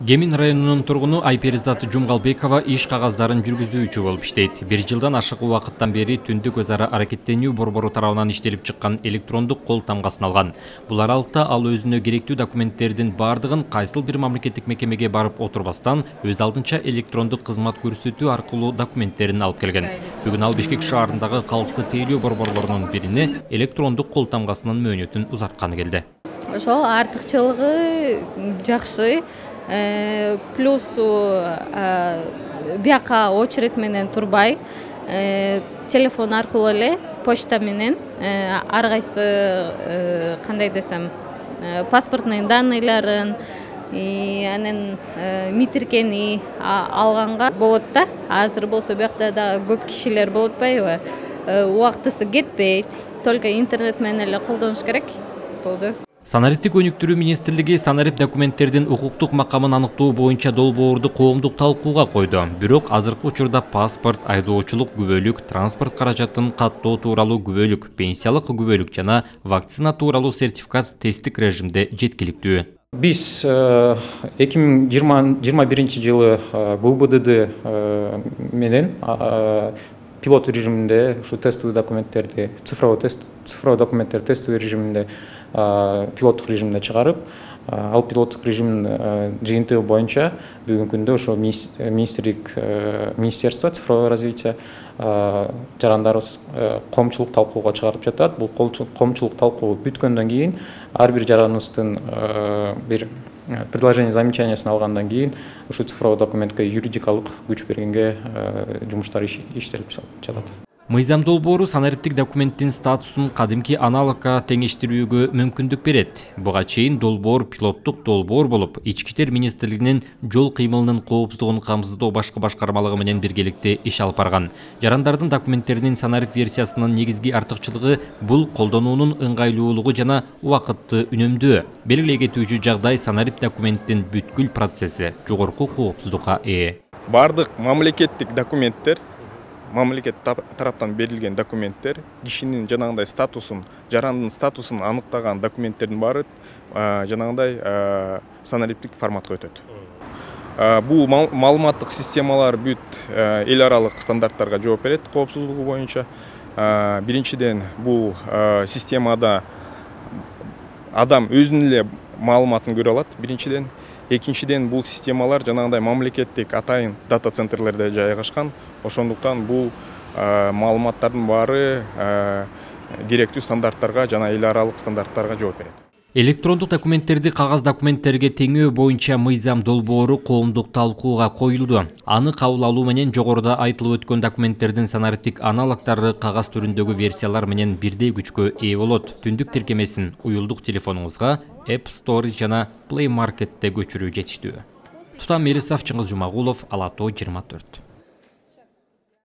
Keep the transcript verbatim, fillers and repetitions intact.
Кемин районунун тургуну Айперизат Жумгалбекова иш кагаздарын жүргүзүүчү болуп иштейт. Бир жылдан ашык убакыттан бери түндүк өз ара аракеттенүү борбору тарабынан иштелип чыккан электрондук кол тамгасын алган. Бул аралыкта ал өзүнө керектүү документтердин бардыгын кайсыл бир мамлекеттик мекемеге барып отурбастан өз алдынча электрондук кызмат көрсөтүү аркылуу документтерин алып келген. Бүгүн ал Бишкек шаарындагы калкты тейлөө борборлорунун бирине электрондук кол тамгасынын мөөнөтүн узартканы келди. Ошол артыкчылыгы жакшы. Плюсу бияка очередь менен турбай, телефон аркылуу эле почта менен ар кайсы кандай десем паспортный данныйларын анан митиркени алганга болот да. Азыр болсо биякта да көп кишилер болуп атпайбы? Убактысы кетпейт, только интернет менен эле колдонуш керек болду. Санариптик өнүктүрүү министрлиги санарип документтердин укуктук макамын аныктоо боюнча долбоорду коомдук талкууга койду. Бирок азыркы учурда паспорт, айдоочулук күбөлүк, транспорт каражатын каттоо тууралуу күбөлүк, пенсиялык күбөлүк жана вакцина тууралуу сертификат тесттик режимде жеткиликтүү. Биз эки миң жыйырма биринчи жылы ГУБДД менен пилот режиминде ушу тестовый документтерди, цифровой тест, цифровой документтер тестовый режиминде пилоттук режимде чыгарып, ал пилоттук режимдин жыйынтыгы боюнча бүгүнкү күндө ошо министрлик, министерство цифрового развития жарандарыбыз коомчулук талкууга чыгарып жатат. Бул коомчулук талкуу бүткөндөн кийин ар бир жараныбыздын бир предложение замечаниясын алгандан кийин ушу цифровой документке юридикалык күч бергенге жумуштар иштелип жатат. Мыйзам долбоору санариптик документтин статусун кадимки аналогка теңештирүүгө мүмкүндүк берет. Буга чейин долбоор пилоттук долбоор болуп, Ички иштер министрлигинин жол кыймылынын коопсуздугун камсыздоо башкы башкармалыгы менен биргеликте иш алып барган. Жарандардын документтеринин санарип версиясынын негизги артыкчылыгы бул колдонуунун ыңгайлуулугу жана убакытты үнөмдөө. Белгилей кетүүчү жагдай санарип документтин бүткүл процесси жогорку коопсуздукка ээ. Бардык мамлекеттик документтер, мамлекет тараптан берилген документтер, кишинин жанагындай статусун, жарандын статусун аныктаган документтердин баары жанагындай санариптик форматка өтөт. Бул маалыматтык системалар бүт эл аралык стандарттарга жооп берет коопсуздугу боюнча. Биринчиден, бул системада адам өзүнүн эле маалыматын көрө алат. Биринчиден, экинчиден, бул системалар жанагындай мамлекеттик атайын дата центрлерде жайгашкан. Ошондуктан бул маалыматтардын баары керектүү стандарттарга жана эл аралык стандарттарга жооп берет. Электрондук документтерди кагаз документтерге теңөө боюнча мыйзам долбоору коомдук талкууга коюлду. Аны кабыл алуу менен жогоруда айтылып өткөн документтердин санариптик аналогдору кагаз түрүндөгү версиялар менен бирдей күчкө ээ болот. Түндүк тиркемесин уюлдук телефонуңузга App Store жана Play Market'те көчүрүү жетиштүү. Тутам Мелисов, Чыңгыз Жумагулов, Ала Тоо жыйырма төрт.